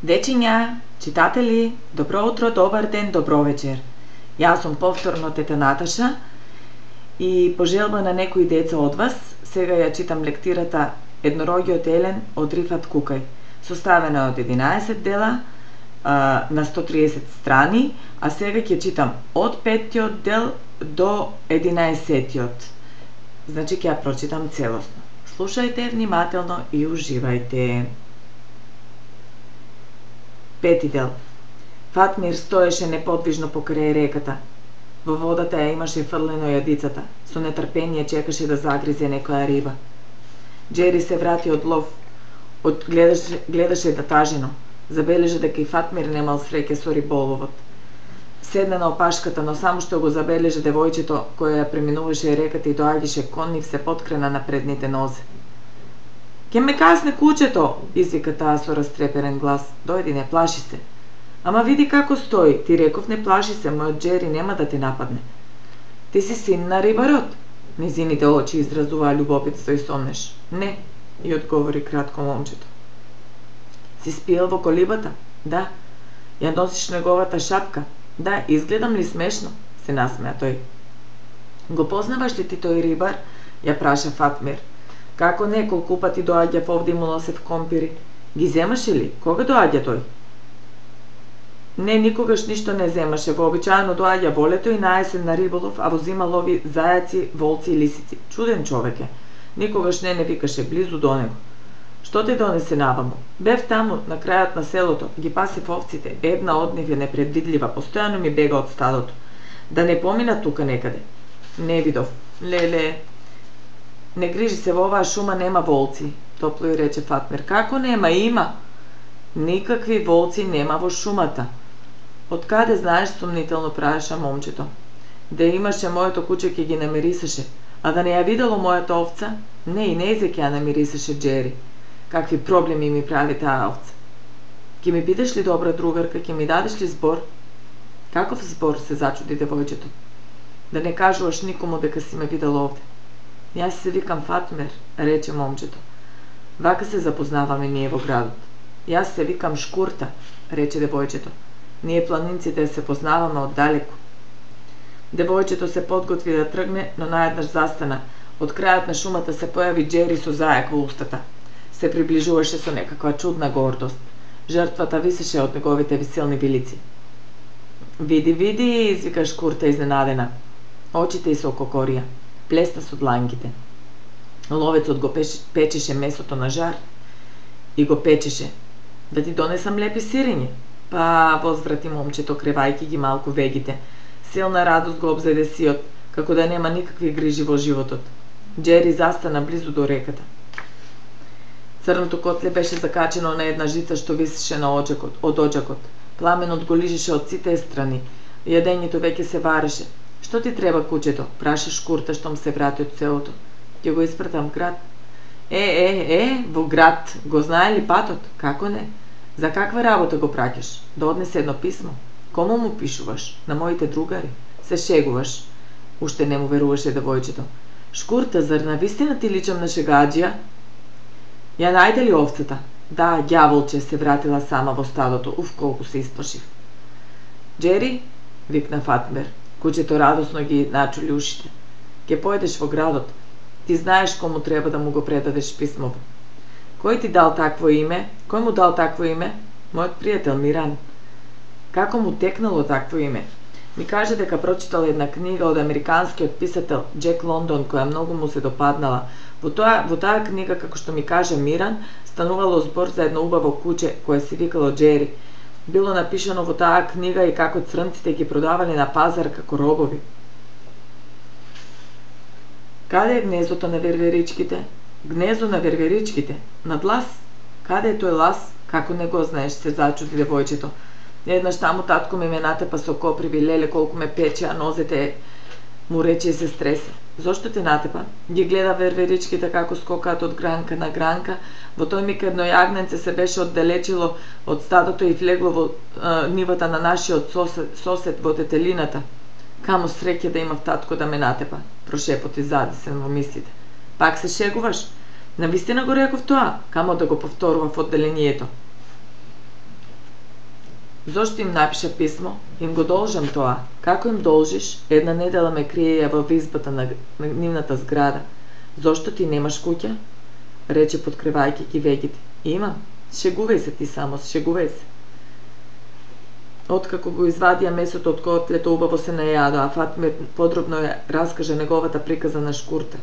Дечиња, читатели, добро утро, добар ден, добро вечер. Јас сум повторно тета Наташа и по желба на некои деца од вас, сега ја читам лектирата Еднорогиот Елен од Рифат Кукај. Составена од 11 дела на 130 страни, а сега ќе читам од 5-тиот дел до 11-тиот. Значи ќе ја прочитам целосно. Слушајте внимателно и уживајте. 5-ти дел. Фатмир стоеше неподвижно покрај реката. Во водата ја имаше фрлено јадицата. Со нетрпение чекаше да загризе некоја риба. Џери се врати од лов. Гледаше натажено. Забележа дека и Фатмир немал среќа со риболовот. Седна на опашката, но само што го забележа девојчето кое ја преминуваше реката и доаѓаше кон нив, се поткрена на предните нозе. "Ке ме касне кучето!" извика таа со растреперен глас. "Дојди, не плаши се." "Ама види како стои, ти реков не плаши се, мојот Џери нема да те нападне." "Ти си син на рибарот?" Незините очи изразуваа љубопитство и сомнеш. "Не," и одговори кратко момчето. "Си спиел во колибата?" "Да." "Ја носиш неговата шапка?" "Да." "Изгледам ли смешно?" се насмеа тој. "Го познаваш ли ти тој рибар?" ја праша Фатмир. "Како не, колку пати доаѓав овде и му носев компири." "Ги земаше ли? Кога доаѓа тој?" "Не, никогаш ништо не земаше. Вообичаено доаѓа во лето и на есен на риболов, а во зима лови зајаци, волци и лисици. Чуден човек е. Никогаш не викаше близу до него." "Што те донесе наваму?" "Бев таму, на крајот на селото, ги пасев овците. Една од нив е непредвидлива, постојано ми бега од стадото. Да не помина тука некаде." "Не видов." "Леле, не грижи се, во оваа шума нема волци," топло и рече Фатмир. "Како нема? Има." "Никакви волци нема во шумата." "Од каде знаеш?" сумнително праша момчето. "Да имаше моето куче ќе ги намирисаше, а да не ја видело мојата овца, не и нејзе ќе ја намирисаше Џери. Какви проблеми ми прави таа овца." "Ќе ми бидеш ли добра другарка, ќе ми дадеш ли збор?" "Каков збор?" се зачуди девојчето. "Да не кажуваш никому дека си ме видел овде." "Јас се викам Фатмир," рече момчето. "Вака се запознаваме ние во градот." "Јас се викам Шкурта," рече девојчето. "Ние планинците се познаваме од далеку." Девојчето се подготви да тргне, но наеднаш застана. Од крајот на шумата се појави Џери со зајак во устата. Се приближуваше со некаква чудна гордост. Жртвата висеше од неговите виселни вилици. "Види, види," извика Шкурта изненадена. Очите ѝ се ококорија. Плеста со дланките. Ловецот го печеше месото на жар и го печеше. "Да ти донесам лепи сирење?" "Па," возврати момчето, кревајки ги малку вегите. Силна радост го обзеде сиот, како да нема никакви грижи во животот. Џери застана близу до реката. Црното котле беше закачено на една жица што висеше на од оџакот. Пламенот го лижеше од сите страни. Јадењето веќе се вареше. "Што ти треба, кучето?" праша Шкурта штом се врати од селото. "Ќе го испратам град." Во град, го знае ли патот?" "Како не? За каква работа го праќаш? Да однесе едно писмо?" "Кому му пишуваш? На моите другари?" "Се шегуваш." Уште не му веруваше девојчето. "Шкурта, зар навистина ти личам на шегаџија?" "Ја најде ли овцата?" "Да, ѓаволче," се вратила сама во стадото. "Уф, колку се исплашив." "Џери," викна Фатмир. Кучето радосно ги начули ушите. "Ке појдеш во градот. Ти знаеш кому треба да му го предадеш писмово." "Кој ти дал такво име?" "Кој му дал такво име?" "Мојот пријател Миран." "Како му текнало такво име?" "Ми каже дека прочитал една книга од американскиот писател Џек Лондон која многу му се допаднала. Во таа книга, како што ми кажа Миран, станувало збор за едно убаво куче кое се викало Џери. Било напишано во таа книга и како црнците ги продавале на пазар како робови." "Каде е гнездото на верверичките?" "Гнездо на верверичките? Над лас?" "Каде е тој лас? Како не го знаеш?" се зачуди девојчето. "Еднаш таму татко ме натепа со коприви, леле колку ме пече, а нозете," му рече и се стресе. "Зошто те натепа?" "Ги гледа верверичките како скокаат од гранка на гранка. Во тој миг едно јагненце се беше оддалечило од стадото и влегло во нивата на нашиот сосед во детелината. Камо среќа да имав татко да ме натепа," прошепоти задесен во мислите. "Пак се шегуваш?" "Навистина го реков тоа, камо да го повторува в одделението." Зошто им напиша писмо? Им го должам тоа. Како им должиш? Една недела ме криеја во избата на нивната зграда. Зошто ти немаш куќа? Рече подкривајќи ги вегите. Имам. Шегувај се ти само, шегувај се. Откако го извадија месото од котлето, убаво се најадо, а Фатмир подробно ја раскаже неговата приказа на шкурта.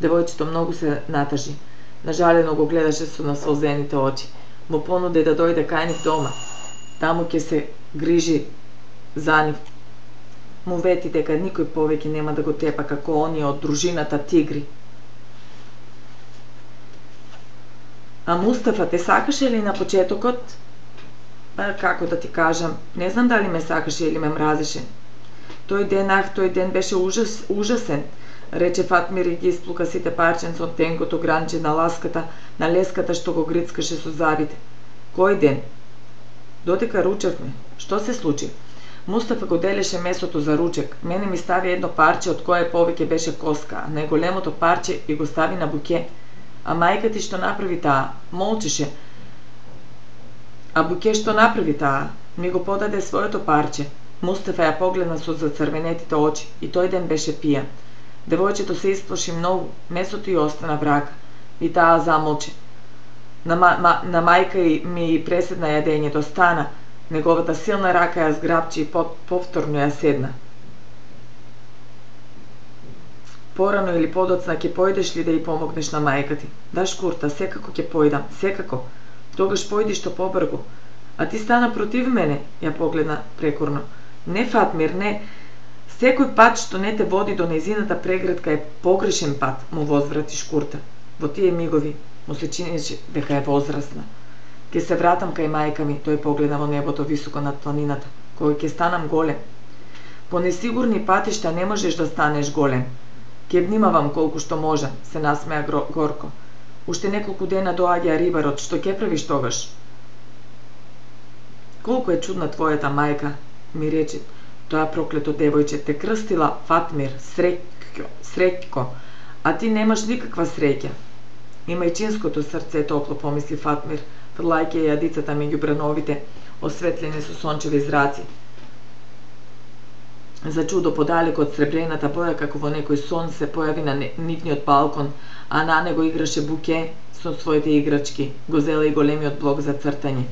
Девојчето многу се натажи. Нажалено го гледаше со насолзените очи. Му понуди да дојде кај нив дома. Таму ќе се грижи за нив. Му вети дека никој повеќе нема да го тепа како оние од дружината тигри. А Мустафа те сакаше ли на почетокот? Како да ти кажам, не знам дали ме сакаше или ме мразеше. Тој ден беше ужасен, рече Фатмир и ги исплука сите парченца од тенкото гранче на леската што го грицкаше со зъбите. Кој ден? Додека ручевме. Што се случи? Мустафа го делеше месото за ручек. Мене ми стави едно парче од кое повеќе беше коска, а најголемото парче и го стави на буке. А мајка ти што направи таа? Молчеше. А буке што направи таа? Ми го подаде своето парче. Мустафа ја погледна со зацрвенетите очи и тој ден беше пијан. Девојчето се исплаши многу, месото ја остана врака. И таа замолчи. На мајка ми и преседна јадењето, стана. Неговата силна рака ја зграбчи и повторно ја седна. Порано или подоцна ќе појдеш ли да ја помогнеш на мајка ти? Да, шкурта, секако ќе појдам, секако. Тогаш појди што побргу. А ти стана против мене, ја погледна прекорно. Не, Фатмир, не. Секој пат што не те води до нејзината преградка е погрешен пат, му возврати шкурта. Во тие мигови му се чинеше дека е возрасна. Ке се вратам кај мајка ми, тој погледа во небото високо над планината. Кој ќе станам голем. По несигурни патишта не можеш да станеш голем. Ке внимавам колку што можам, се насмеа горко. Уште неколку дена доаѓа рибарот, што ќе правиш тогаш? Колку е чудна твојата мајка, ми рече. Тоа проклето девојче те крстила Фатмир, среќко, а ти немаш никаква среќа. Имајчинското срце топло, помисли Фатмир, фрлајќи јадицата меѓу брановите, осветлени со сончеви зраци. За чудо подалеку од сребрената боја, како во некој сон, се појави на нивниот балкон, а на него играше буке со своите играчки, го зела и големиот блок за цртање.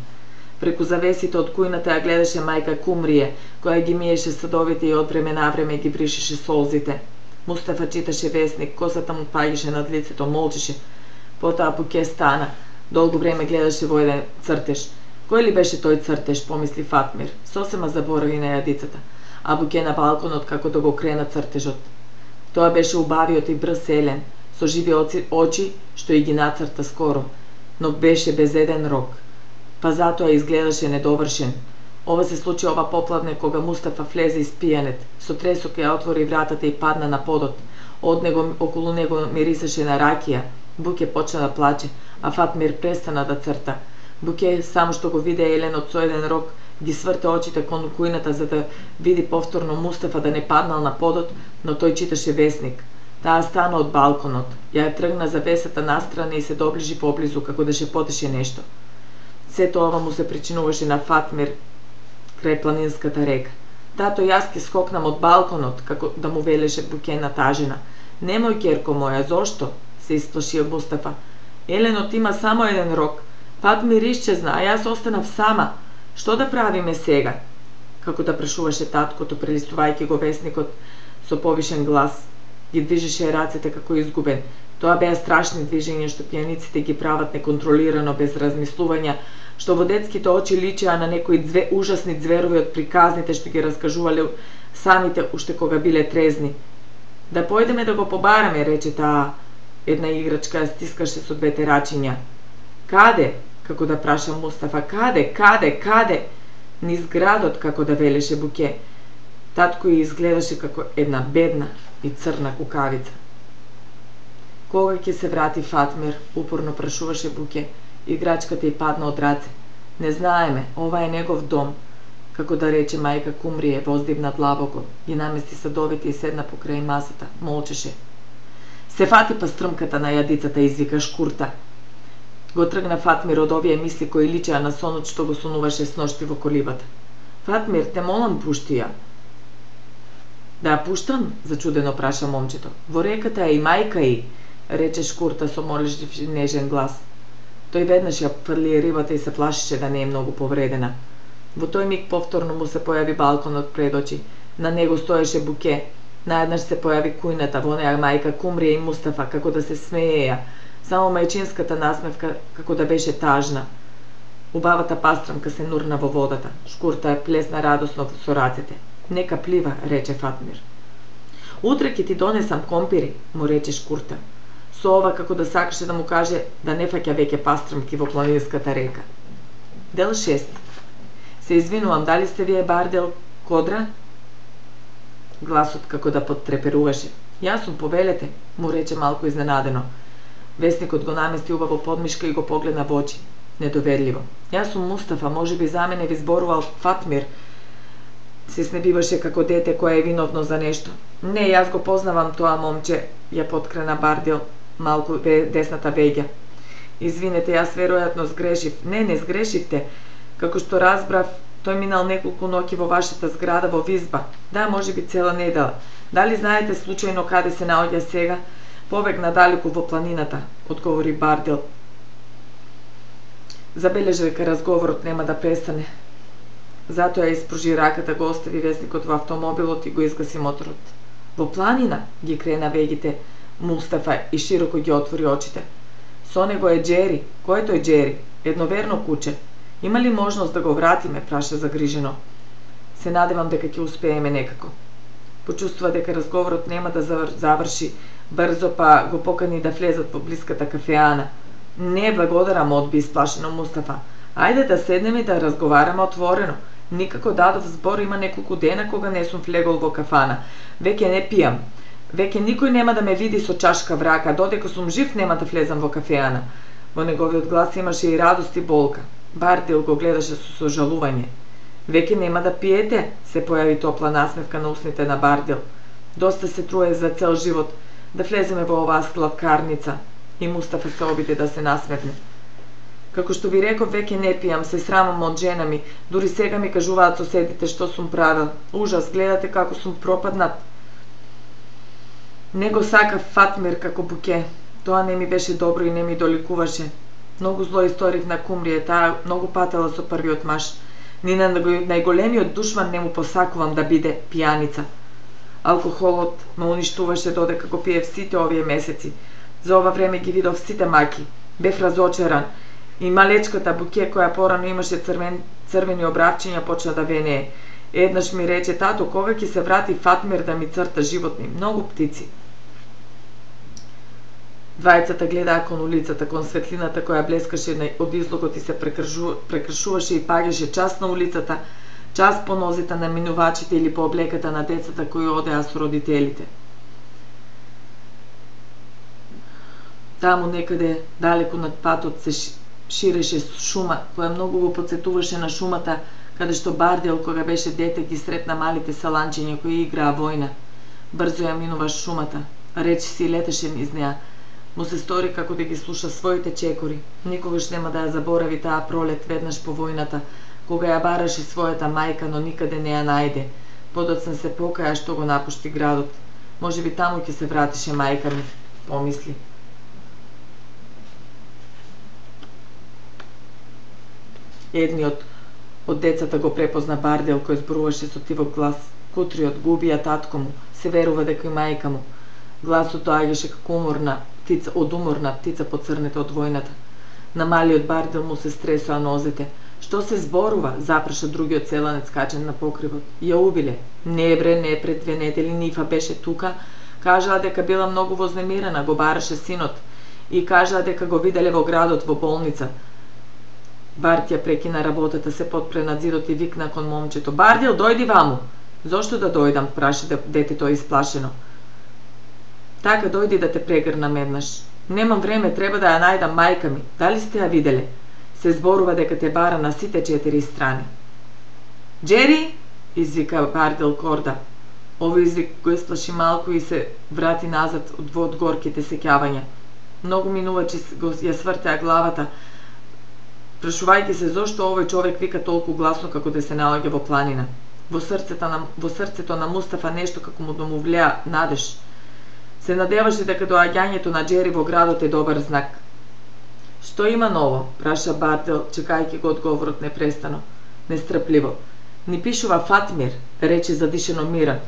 Преку завесите од кујната ја гледаше мајка Кумрие, која ги миеше садовите и од време на време ги бришеше солзите. Мустафа читаше весник, косата му паѓаше над лицето, молчеше. Потоа Буке стана, долго време гледаше во еден цртеж. Кој ли беше тој цртеж, помисли Фатмир, сосема заборави на јадицата, а Буке на балконот како да го крена цртежот. Тоа беше убавиот и брз Елен, со живи очи што и ги нацрта скоро, но беше без еден рок. Па затоа изгледаше недовршен. Ова се случи ова поплавне кога Мустафа влезе испијанет, со тресок ја отвори вратата и падна на подот. Од него, околу него мирисаше на ракија. Буке почна да плаче, а Фатмир престана да црта. Буке, само што го виде Еленот со еден рок, ги сврте очите кон кујната за да види повторно Мустафа да не паднал на подот, но тој читаше весник. Таа стана од балконот, ја тргна завесата настрана и се доближи поблизу како да шепотеше нешто. Сето ова му се причинуваше на Фатмир крај планинската река. Тато јас ке скокнам од балконот, како да му велеше Буке натажена. Немој, керко моја, зошто? Се исплаши Мустафа. Еленот има само еден рок. Фатмир исчезна, а јас останав сама. Што да правиме сега? Како да прашуваше таткото, прелистувајќи го весникот со повишен глас. Ги движеше рацете како изгубен. Тоа беа страшни движења што пијаниците ги прават неконтролирано, без размислувања, што во детските очи личеа на некои ужасни зверови од приказните што ги раскажувале самите уште кога биле трезни. Да појдеме да го побараме, рече таа. Една играчка ја стискаше со двете рачиња. Каде? Како да праша Мустафа. Каде? Низ градот, како да велеше Буке. Татко ја изгледаше како една бедна и црна кукавица. Кога ќе се врати Фатмир, упорно прашуваше Буке. Играчката ја падна од раце. Не знаеме, ова е негов дом. Како да рече мајка Кумрие, воздигна длабоко, ги намести садовите и седна покрај масата, молчеше. Се фати па стрмката на јадицата, извика шкурта. Го тргна Фатмир од овие мисли кои личеа на сонот што го сонуваше сношти во колибата. Фатмир, те молам, пушти ја. Да ја пуштам? Зачудено праша момчето. Во реката е и мајка и, рече Шкурта со молежлив и нежен глас. Тој веднаш ја фрли рибата и се плашеше да не е многу повредена. Во тој миг повторно му се појави балконот пред очи. На него стоеше Буке. Наеднаш се појави кујната, во неа мајка Кумрија и Мустафа, како да се смееја. Само мајчинската насмевка како да беше тажна. Убавата пастрамка се нурна во водата. Шкурта ја плесна радосно со рацете. Нека плива, рече Фатмир. Утре ќе ти донесам компири, му рече Шкурта. Со ова како да сакаше да му каже да не фаќа веќе пастрамки во планинската река. Дел 6. Се извинувам, дали сте вие Бардел Кодра? Гласот како да поттреперуваше. Јас сум, повелете, му рече малку изненадено. Весникот го намести убаво подмишка и го погледна во очи. Недоверливо. Јас сум Мустафа, можеби за мене ви зборувал Фатмир. Се снебиваше како дете кое е виновно за нешто. Не, јас го познавам тоа момче, ја поткрена Бардел малку десната веѓа. Извинете, јас веројатно сгрешив. Не сгрешивте. Како што разбрав, тој минал неколку ноќи во вашата зграда во Визба. Да, можеби цела недела. Дали знаете случајно каде се наоѓа сега? Побегна далеку во планината, одговори Бардел. Забележа дека разговорот нема да престане. Затоа ја испружи раката, го остави весникот во автомобилот и го изгаси моторот. Во планина ги крена вегите Мустафа и широко ги отвори очите. Со него е Джери. Кој е тој Джери? Едноверно куче. Има ли можност да го вратиме, праша загрижено. Се надевам дека ќе успееме некако. Почувствува дека разговорот нема да заврши брзо, па го покани да влезат во блиската кафеана. Не, благодарам, одби исплашено Мустафа. Ајде да седнеме и да разговараме отворено. Никако дадов збор, има неколку дена кога не сум влегол во кафана. Веќе не пијам. Веќе никој нема да ме види со чашка врака, додека сум жив нема да влезам во кафеана. Во неговиот глас имаше и радост и болка. Бардел го гледаше со сожалување. Веќе нема да пиете, се појави топла насмевка на усните на Бардел. Доста се труе за цел живот да влеземе во оваа сладкарница. И Мустафа се обиде да се насмевне. Како што ви реков, веќе не пијам, се срамам од жена ми. Дури сега ми кажуваат соседите што сум правил. Ужас, гледате како сум пропаднат. Не го сакав Фатмир како Буке. Тоа не ми беше добро и не ми доликуваше. Многу зло историв на Кумрија, таа многу патела со првиот маж. Ни на најголемиот душман не му посакувам да биде пијаница. Алкохолот ме уништуваше додека го пиев сите овие месеци. За ова време ги видов сите маки. Бев разочаран. И малечката Буке, која порано имаше црвени обравчиња, почна да венее. Еднаш ми рече: тато, кога ќе се врати Фатмир да ми црта животни? Многу птици. Двајцата гледаа кон улицата, кон светлината која блескаше од излогот и се прекршуваше и паѓаше час на улицата, час по нозите на минувачите или по облеката на децата кои одеа со родителите. Таму некаде, далеку над патот, се ширеше шума, која многу го потсетуваше на шумата, каде што Бардел, кога беше дете, ги сретна малите саланчиња кои играа војна. Брзо ја минува шумата, речи си летеше низ неа. Му се стори како да ги слуша своите чекори. Никогаш нема да ја заборави таа пролет веднаш по војната, кога ја бараше својата мајка, но никаде не ја најде. Подоцна се покаја што го напушти градот. Можеби таму ќе се вратише мајка ми, помисли. Едниот од децата го препозна Бардел, кој зборуваше со тивок глас. Кутриот губија татко му, се верува дека и мајка му. Гласот доаѓаше како уморна птица поцрнета од војната. На малиот Бардел му се стресоа нозете. Што се зборува? Запраша другиот селанец качен на покривот. Ја убиле. Не бре, не, пред 2 недели Нифа беше тука. Кажала дека била многу вознемирена, го бараше синот. И кажала дека го виделе во градот, во болница. Барт ја прекина работата, се потпре над зидот и викна кон момчето: Бардел, дојди ваму. Зошто да дојдам? Праша детето исплашено. Така, дојди да те прегрнам еднаш. Немам време, треба да ја најдам мајка ми. Дали сте ја виделе? Се зборува дека те бара на сите 4 страни. Джери, извика Бардел Корда. Овој извик го исплаши малку и се врати назад од горките сеќавања. Многу минувачи ја свртеа главата, прашувајќи се зошто овој човек вика толку гласно како да се наоѓа во планина. Во срцето на Мустафа нешто како му домовлеа надеж. Се надеваше дека доаѓањето на Џери во градот е добар знак. Што има ново? Праша Бардел, чекајќи го одговорот непрестано, нестрпливо. Ни пишува Фатмир, рече задишено Миран.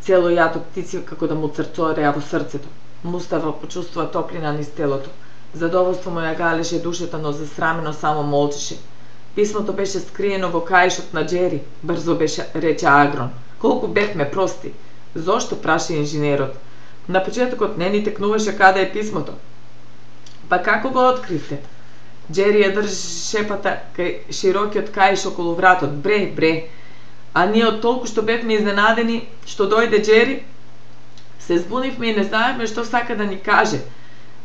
Цело јато птици како да му црцореа во срцето. Мустафа почувствува топлина низ телото. Задоволство му ја галеше душата, но засрамено само молчеше. Писмото беше скриено во каишот на Џери, брзо рече Агрон. Колку бевме прости. Зошто, праша инженерот. На почетокот не ни текнуваше каде е писмото. Па како го откривте? Џери ја држи шепата кај широкиот каиш околу вратот. Бре. А ние од толку што бевме изненадени што дојде Џери, се збунивме и не знаевме што сака да ни каже.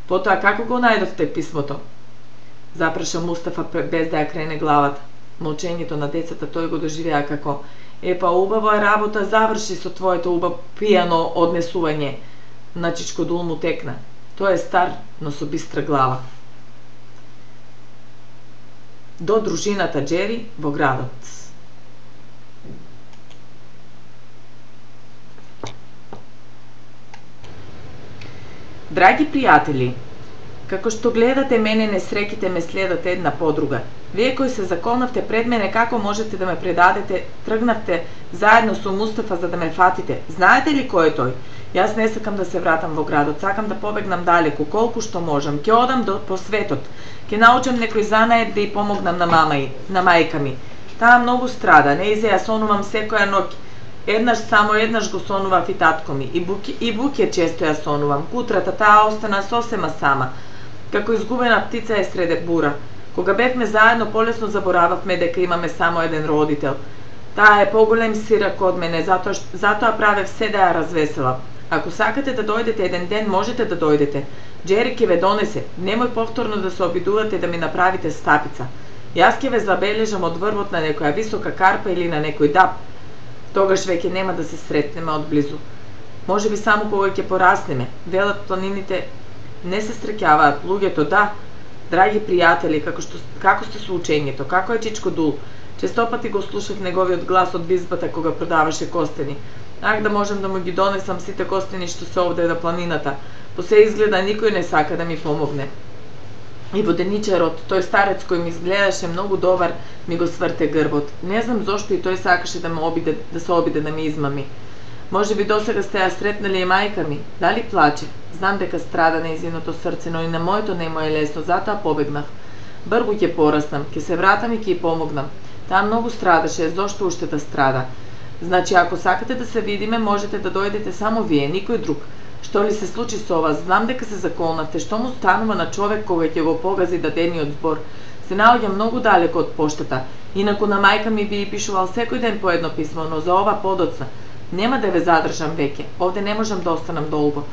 Потоа како го најдовте писмото? Запраша Мустафа без да ја крене главата. Молчењето на децата тој го доживеа како епа убава работа заврши со твоето пијано однесување. На Чичкодул му текна. Тој е стар, но со бистра глава. До дружината Џери во градот. Драги пријатели, како што гледате мене, несреќите ме следат една по друга. Вие кои се заколнавте пред мене, како можете да ме предадете, тргнавте заедно со Мустафа за да ме фатите. Знаете ли кој е тој? Јас не сакам да се вратам во градот, сакам да побегнам далеку, колку што можам. Ќе одам по светот, ќе научам некој занает да ја помогнам на мајка ми. Таа многу страда, не изе ја сонувам секоја ноќ. Само еднаш го сонував и татко ми. И Буке често ја сонувам. Кутрата таа остана сосема сама. Како изгубена птица е среде бура. Кога бевме заедно, полесно заборававме дека имаме само еден родител. Таа е поголем сирак од мене, затоа правев се да ја развеселам. Ако сакате да дојдете еден ден, можете да дојдете. Џери ќе ве донесе. Немој повторно да се обидувате да ми направите стапица. Јас ќе ве забележам од врвот на некоја висока карпа или на некој даб. Тогаш веќе нема да се сретнеме одблизу. Може би само кога ќе пораснеме. Велат планините не се среќаваат, луѓето да. Драги пријатели, како сте со учењето, како е Чичкодул? Честопати го слушав неговиот глас од визбата кога продаваше костени. Ах, да можам да му ги донесам сите костени што се овде на планината. По се изгледа никој не сака да ми помогне. И воденичарот, тој старец кој ми изгледаше многу добар, ми го сврте грбот. Не знам зошто и тој сакаше да се обиде да ми измами. Може би досега сте ја сретнали и мајка ми. Дали плаче? Знам дека страда нејзиното срце, но и на моето не му е лесно, затоа побегнав. Бргу ќе пораснам, ќе се вратам и ќе ја помогнам. Таа многу страдаше, зошто уште да страда? Значи, ако сакате да се видиме, можете да дојдете само вие, никој друг. Што ли се случи со вас? Знам дека се заколнавте. Што му станува на човек кога ќе го погази дадениот збор? Се наоѓа многу далеко од поштата. Инаку на мајка ми би пишувал секој ден по едно писмо, но за ова подоцна. Нема да ве задржам веќе. Овде не можам да останам долго.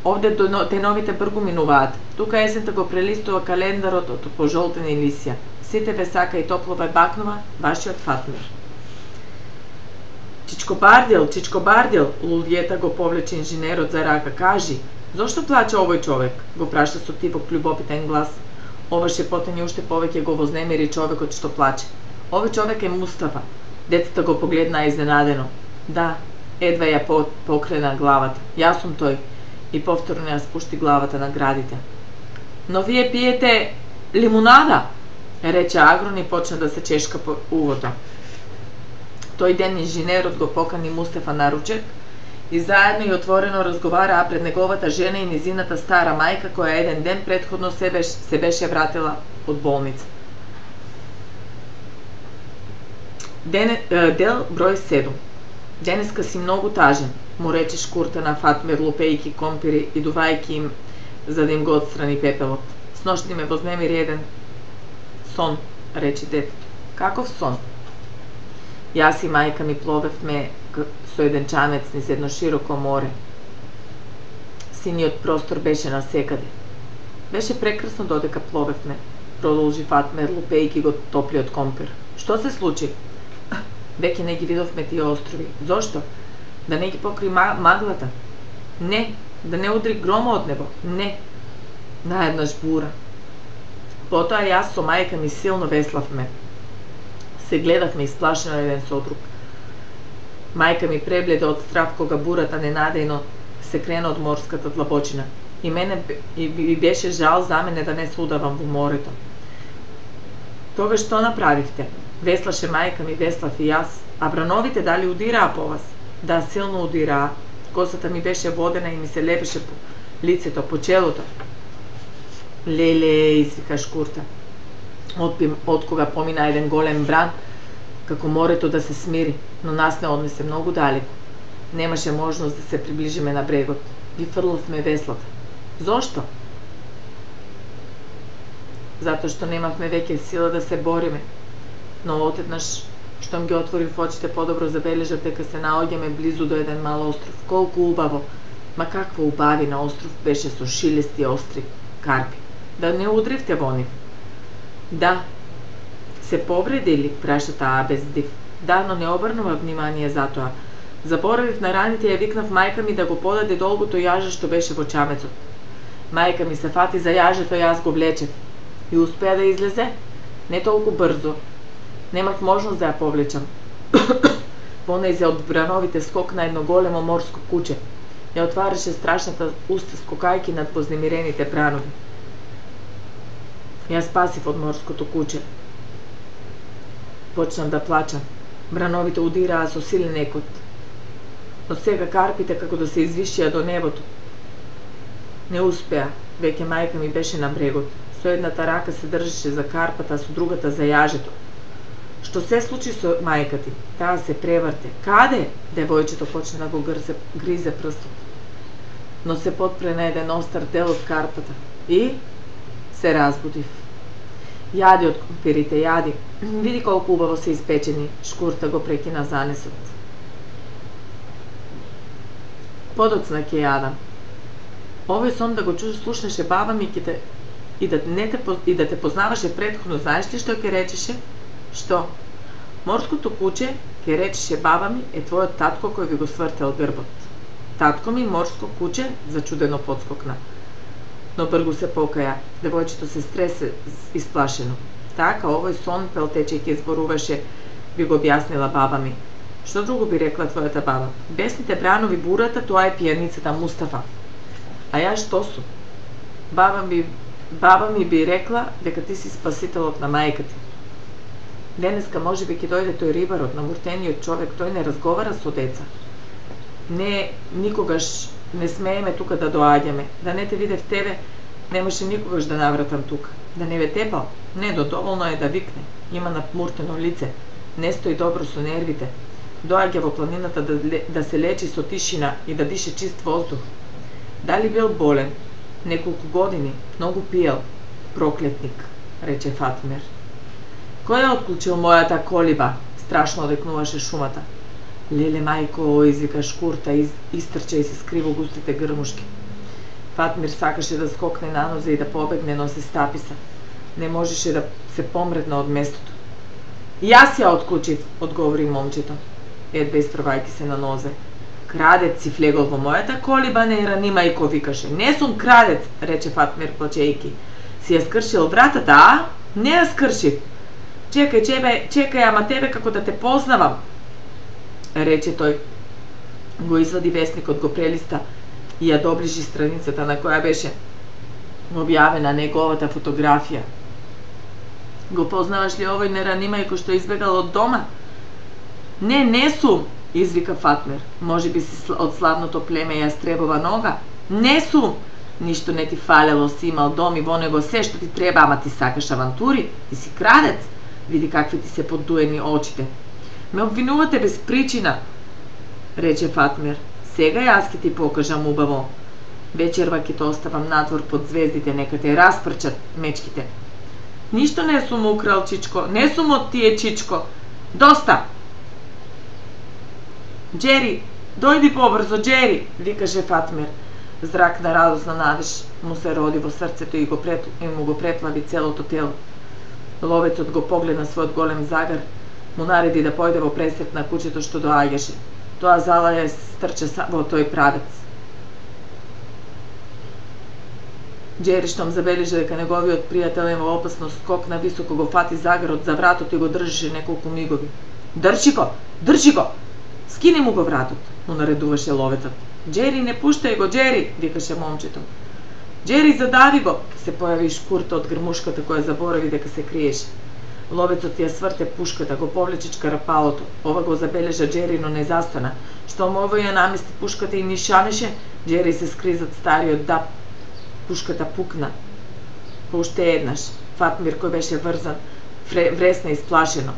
Овде деновите бргу минуваат. Тука есента го прелистува календарот од пожолтени лисја. Сите ве сака и топло ве бакнува, вашиот Фатмир. Чичко Бардел, лулјета го повлече инженерот за рака. Кажи, зошто плаче овој човек? Го праша со тивок љубопитен глас. Ова шепотење уште повеќе го вознемири човекот што плаче. Овој човек е Мустафа. Децата го погледнаа изненадено. Да, едва ја покрена главата. Јас сум тој. И повторно ја спушти главата на градите. Но вие пиете лимунада, рече Агрон и почна да се чешка по увото. Тој ден инженерот го покани Мустафа на ручек и заедно и отворено разговараа пред неговата жена и низината стара мајка која еден ден претходно се беше вратила од болница. Дел број 7. Денеска си многу тажен, му рече шкурта на Фатмир, лупејки компири и дувајки им за да им го отстрани пепелот. Сношни ме вознемири еден сон, рече детето. Каков сон? Јас и мајка ми пловевме со еден чамец низ едно широко море. Синиот простор беше насекаде. Беше прекрасно додека пловевме, продолжи Фатмир, лупејки го топлиот компир. Што се случи? Веќе не ги видовме тие острови. Зошто? Да не ги покри маглата? Не. Да не удри грома од небо? Не. Наеднаш бура. Потоа јас со мајка ми силно веславме. Се гледавме исплашено еден со друг. Мајка ми пребледе од страв кога бурата ненадејно се крена од морската длабочина. И мене би беше жал за мене да не се удавам во морето. Тогаш што направивте? Веслаше мајка ми, веслав и јас, а брановите дали удираа по вас? Да, силно удираа. Косата ми беше водена и ми се лепеше по лицето, по челото. Леле, извика Шкурта. Од кога помина еден голем бран, како морето да се смири, но нас не однесе многу далеко. Немаше можност да се приближиме на брегот. Ги фрлавме веслата. Зошто? Затоа што немавме веќе сила да се бориме. Но одеднаш, штом ги отворив очите, подобро забележав дека се наоѓаме близу до еден мал остров. Колку убаво! Ма каква убавина остров беше со шилести остри карпи. Да не удривте во нив? Да. Се повредили? Праша таа без див. Да, но не обрнува внимание за тоа. Заборавив на раните и ја викнав мајка ми да го подаде долгото јаже што беше во чамецот. Мајка ми се фати за јажето и јас го влечев. И успеа да излезе? Не толку брзо. Немав можност да ја повлечам. Понејзе од брановите скокна едно големо морско куче. Ја отвараше страшната уста скокајки над вознемирените бранови. Ја спасив од морското куче. Почнав да плачам. Брановите удираа со силен екот. Но сега карпите како да се извишија до небото. Не успеа, веќе мајка ми беше на брегот. Со едната рака се држеше за карпата, а со другата за јажето. Што се случи со мајка ти? Таа се преврте. Каде? Девојчето почна да го гризе прстот. Но се потпре на еден остар дел од карпата. И се разбудив. Јади од кумпирите, јади. Види колку убаво се испечени. Шкурта го прекина занесот. Подоцна ќе јадам. Овој сон да го слушнеше баба ми и да те познаваше претходно, знаеш ли што ќе речеше? Што? Морското куче, ќе речеше баба ми, е твојот татко кој ви го свртел грбот. Татко ми, морско куче, зачудено подскокна. Но бргу се покаја. Девојчето се стресе исплашено. Така, овој сон, пелтечејќи зборуваше, би го објаснила баба ми. Што друго би рекла твојата баба? Бесните бранови бурата, тоа е пијаницата Мустафа. А ја што сум? Баба ми би рекла дека ти си спасителот на мајка ти. Денеска може би ќе дојде тој рибарот, намуртениот човек, тој не разговара со деца. Не, никогаш не смееме тука да доаѓаме. Да не те видев тебе, немаше никогаш да навратам тука. Да не ве тепал? Не, доволно е да викне. Има напмуртено лице. Не стои добро со нервите. Доаѓа во планината да се лечи со тишина и да дише чист воздух. Дали бил болен? Неколку години, многу пиел. Проклетник, рече Фатмир. Кој е отклучил мојата колиба? Страшно одекнуваше шумата. Леле мајко, извика Шкурта, истрча и се скри во густите грмушки. Фатмир сакаше да скокне на нозе и да побегне, но се стаписа. Не можеше да се помредна од местото. Јас ја отклучив, одговори момчето, едва испрвајќи се на нозе. Крадец си влегол во мојата колиба, не ранимајко, викаше. Не сум крадец, рече Фатмир плачејки. Си ја скршил вратата, а? Не ја скршив. Чекај, ама тебе како да те познавам, рече тој. Го извади весникот, го прелиста и ја доближи страницата на која беше објавена неговата фотографија. Го познаваш ли овој неранимајко што избегал од дома? Не сум, извика Фатмир. Може би си од славното племе Јастребова нога? Не сум! Ништо не ти фалело, си имал дом и во него се што ти треба, ама ти сакаш авантури, ти си крадец. Види какви ти се подуени очите. Ме обвинувате без причина, рече Фатмир. Сега јас ќе ти покажам убаво. Вечерва ќе те оставам надвор под звездите, нека те распрчат мечките. Ништо не сум украл, чичко, не сум од тие, чичко. Доста! Джери, дојди побрзо, Джери, викаше Фатмир. Зрак на радосна надеж му се роди во срцето и му го преплави целото тело. Ловецот го погледна својот голем загар, му нареди да појде во пресрет на кучето што доаѓаше. Тоа зала ја стрча во тој правец. Џери штом забележа дека неговиот пријател е во опасност, скокна високо, го фати загарот за вратот и го држеше неколку мигови. Држи го! Држи го! Скини му го вратот, му наредуваше ловецот. Џери, не пуштај го, Џери, викаше момчето. Џери, задави го, се појави Шкурта од грмушката која заборави дека се криеше. Ловецот ја сврте пушката, го повлече чкарапалото. Ова го забележа Џери, но не застана. Штом овој ја намести пушката и нишанеше, Џери се скри зад стариот даб. Пушката пукна. По уште еднаш, Фатмир, кој беше врзан, вресна исплашено.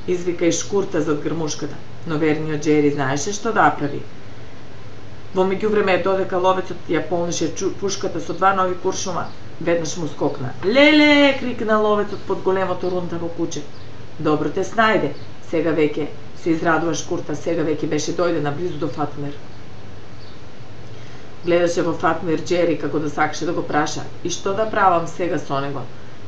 Извика и Шкурта зад грмушката, но верниот Џери знаеше што да прави. Во меѓувреме, додека ловецот ја полнеше пушката со 2 нови куршума, веднаш му скокна. Леле, крикна ловецот под големото рунтаво куче. Добро те снајде. Сега веќе се израдува Шкурта, сега веќе беше дојдена близу до Фатмир. Гледаше во Фатмир Џери како да сакаше да го праша. И што да правам сега со него?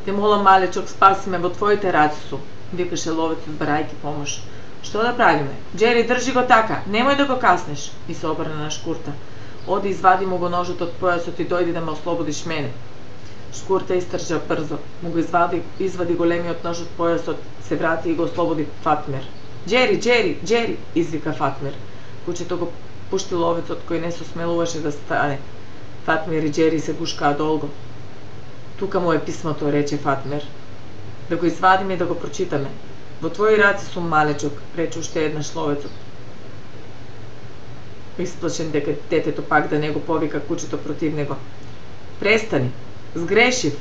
Те молам, малечок, спаси ме, во твоите раце сум, викаше ловецот барајки помош. Што да правиме? Џери, држи го така, немој да го каснеш, и се обрна на Шкурта. Оди, извади му го ножот од појасот и дојди да ме ослободиш мене. Шкурта истржа брзо, му го извади големиот нож од појасот, се врати и го ослободи Фатмир. Џери, Џери, Џери, извика Фатмир. Кучето го пушти ловецот кој не се смелуваше да стане. Фатмир и Џери се гушкаа долго. Тука му е писмото, рече Фатмир. Да го извадиме и да го прочитаме. Во твои раце сум, малечок, рече уште еднаш ловецот. Исплашен дека детето пак да не го повика кучето против него. Престани, сгрешив.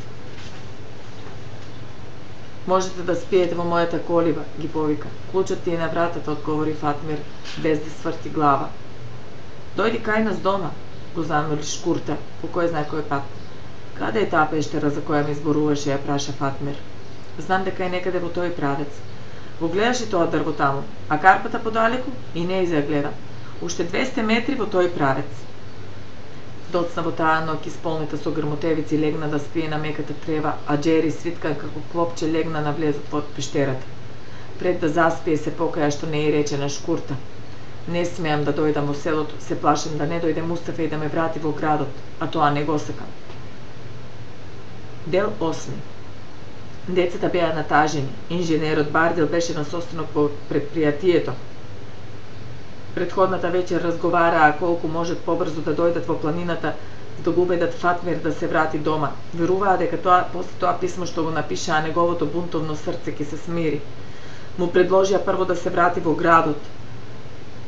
Можете да спиете во мојата колиба, ги повика. Клучот ти е на вратата, одговори Фатмир, без да сврти глава. Дојди кај нас дома, го замоли Шкурта, по кој знае кој пат. Каде е таа пештера за која ми зборуваше, ја праша Фатмир. Знам дека е некаде во тој правец. Го гледаш и тоа дрво таму, а карпата подалеку и не ја гледам. Уште 200 метри во тој правец. Доцна во таа ноќ исполнита со грмотевици легна да спие на меката трева, а Џери свиткан како клопче легна на влезот од пештерата. Пред да заспие се покаја што не ја рече на Шкурта. Не смеам да дојдам во селото, се плашам да не дојде Мустафа и да ме врати во градот, а тоа не го сакам. Дел 8. Децата беа натажени. Инженерот Бардел беше на состанок по предпријатието. Предходната вечер разговараа колку можат побрзо да дојдат во планината, да го убедат Фатмир да се врати дома. Веруваа дека после тоа писмо што го напишаа, неговото бунтовно срце ќе се смири. Му предложија прво да се врати во градот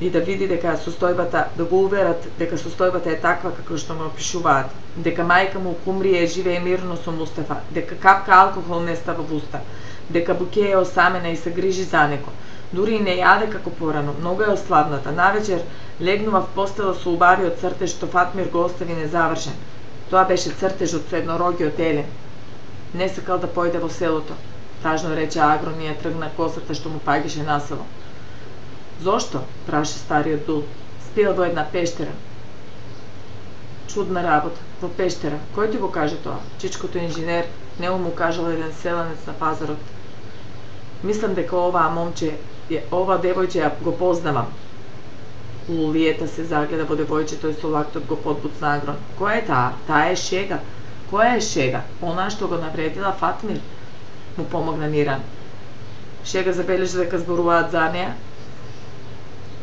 и да види дека состојбата, да го уверат дека состојбата е таква како што му опишуваат, дека мајка му умрие живее мирно со Мустафа, дека капка алкохол не става во уста, дека Буке е осамена и се грижи за него. Дури и не јаде како порано, многу е ослабната. Навечер легнува в постела со убавиот цртеж што Фатмир го остави незавршен. Тоа беше цртежот со еднорогиот Елен. Не сакал да појде во селото. Тажно рече Агрон и ја тргна косата што му паѓаше на село. Зошто? Праша стариот Дул. Спиел во една пештера. Чудна работа. Во пештера. Кој ти го каже тоа? Чичкото инженер, не му кажал еден селанец на пазарот. Мислам дека ова девојче ја го познавам. Лулиета се загледа во девојчето и со лактот го подбуцна Агрон. Која е таа? Таа е Шега. Која е Шега? Она што го навредила Фатмир. Му помогна Миран. Шега забележа дека зборуваат за неа.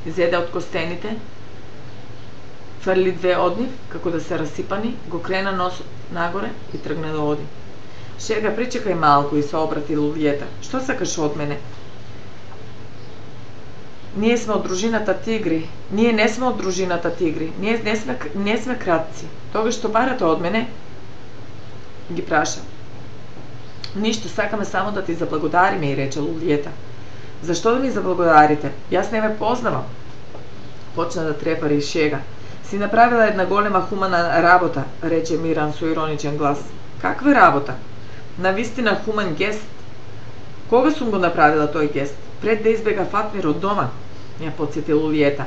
Зеде од костените, фрли 2 од нив, како да се расипани, го крена носот нагоре и тргна да оди. Шега, причекај малку, и се обрати Лулиета. Што сакаш од мене? Ние сме од дружината Тигри. Ние не сме од дружината Тигри. Ние не сме кратци. Тога што барате од мене? Ги праша. Ништо, сакаме само да ти заблагодариме, и рече Лулиета. Зашто да ми заблагодарите? Јас не ме познавам. Почна да трепари Шега. Си направила една голема хумана работа, рече Миран со ироничен глас. Каква работа? Навистина хуман гест. Кога сум го направила тој гест? Пред да избега Фатмир од дома, ја потсети Лулиета.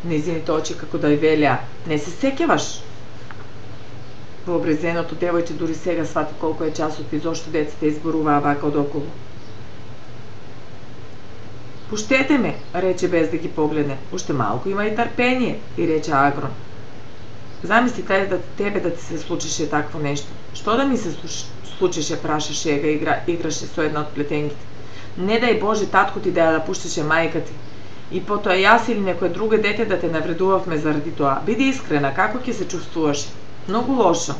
Незините очи како да ја велеа. Не се сеќаваш? Вообрезеното девојче дури сега свати колку е часот и зошто децата изборуваа вака одоколу. Пуштете ме, рече без да ги погледне. Уште малку има и трпение, и рече Агрон. Замисли тебе да ти се случише такво нешто. Што да ми се случише, прашаше ја играше со една од плетенгите. Не дај Боже татко ти да ја пуштеше мајка ти. И потоа јас или некое друго дете да те навредувавме заради тоа. Биди искрена, како ќе се чувствуваш? Многу лошо.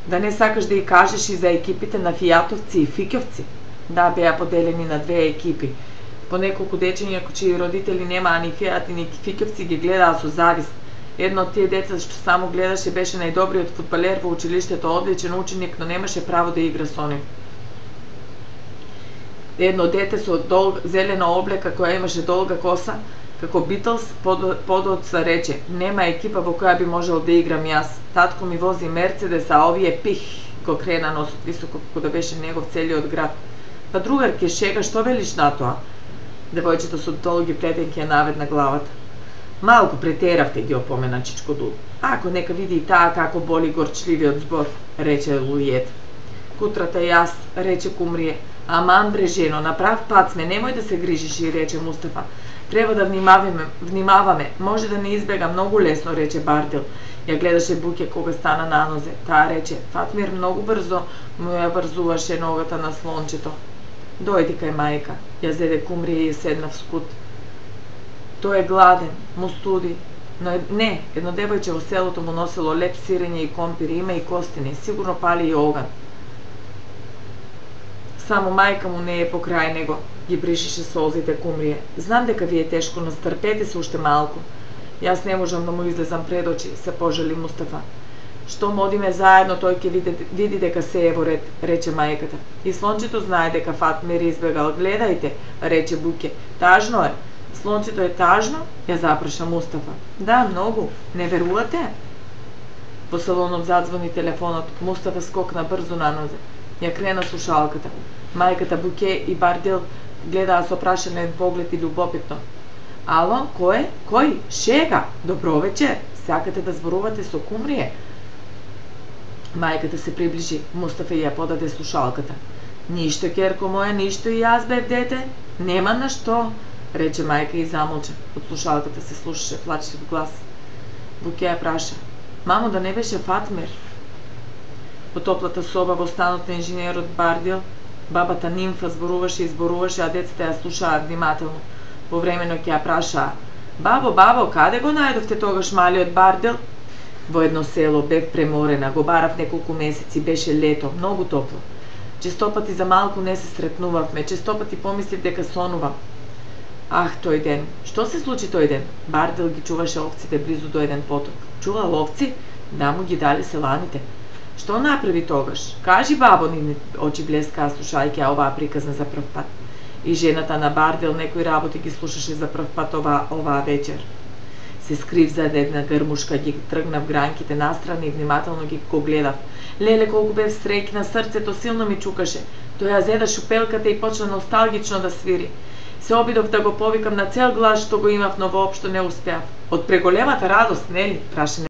Да не сакаш да и кажеш и за екипите на фијатовци и фиќовци? Да, беа поделени на две екипи. По неколку дечиња чии родители немаа ни фијати ни фиќовци ги гледаа со завист. Едно од тие деца што само гледаше беше најдобриот фудбалер во училиштето, одличен ученик, но немаше право да игра со нив. Едно дете со зелена облека која имаше долга коса, како Битлс, подоцна рече: нема екипа во која би можел да играм јас. Татко ми вози Мерцедес, а овие пих го крена носот високо како да беше негов целиот град. Па другарке, шега, што велиш на тоа? Девојчето со долги плетенки ја наведна главата. Малку претеравте, ги опомена Чичко Дул. Ако нека види и таа како боли горчливиот збор, рече Лујет. Кутрата јас, рече Кумрие. Аман бре жено, на прав пат сме, немој да се грижиш, и рече Мустафа. Треба да внимаваме, може да не избега многу лесно, рече Бардил. Ја гледаше Буќе кога стана на нозе. Таа рече: Фатмир многу брзо му ја врзуваше ногата на слончето. Дојди кај мајка, ја зеде Кумрие и седна в скут. Тој е гладен, му студи. Но не, едно девојче во селото му носило леп сирење и компири, има и костини, сигурно пали и оган. Само мајка му не е покрај него, ги бришеше солзите Кумрие. Знам дека ви е тешко, но стрпете се уште малку. Јас не можам да му излезам пред очи, се пожали Мустафа. Штом одиме заедно, тој ќе види дека се е во ред, рече мајката. И слончето знае дека Фатмир избегал. Гледајте, рече Буќе. Тажно е. Слончето е тажно? Ја запраша Мустафа. Да, многу. Не верувате? Во салонот задзвони телефонот. Мустафа скокна брзо на нозе. Ја крена слушалката. Мајката, Буќе и Бардил гледаа со прашаен поглед и љубопитно. Ало, кој? Кој? Шега? Добро вечер. Сакате да зборувате со Кумрие? Мајката се приближи. Мустафа ја подаде слушалката. Ништо, керко моја, ништо, и јас бев дете. Нема на што, рече мајка и замолча. Од слушалката се слушаше плачлив глас. Буќе ја праша: Мамо, да не беше Фатмир? Во топлата соба во станот на инженерот Бардил, бабата Нимфа зборуваше и зборуваше, а децата ја слушаа внимателно. Повремено ќе ја прашаа: Бабо, каде го најдовте тогаш малиот Бардил? Во едно село, бев преморена, го барав неколку месеци, беше лето, многу топло. Честопати за малку не се сретнувавме, честопати помислив дека сонувам. Ах, тој ден. Што се случи тој ден? Бардил ги чуваше овците близу до еден поток. Чувал овци? Да, му ги дали селаните. Што направи тогаш? Кажи, бабо, нивни очи блескаа слушајќи оваа приказна за прв пат. И жената на Бардил некои работи ги слушаше за прв пат оваа вечер. Се скрив за една грмушка, ги тргнав гранките настрани и внимателно ги го гледав. Леле, колку бев среќна, срцето силно ми чукаше. Тој ја зеда шупелката и почна носталгично да свири. Се обидов да го повикам на цел глас што го имав, но воопшто не успеав. Од преголемата радост, нели? Праша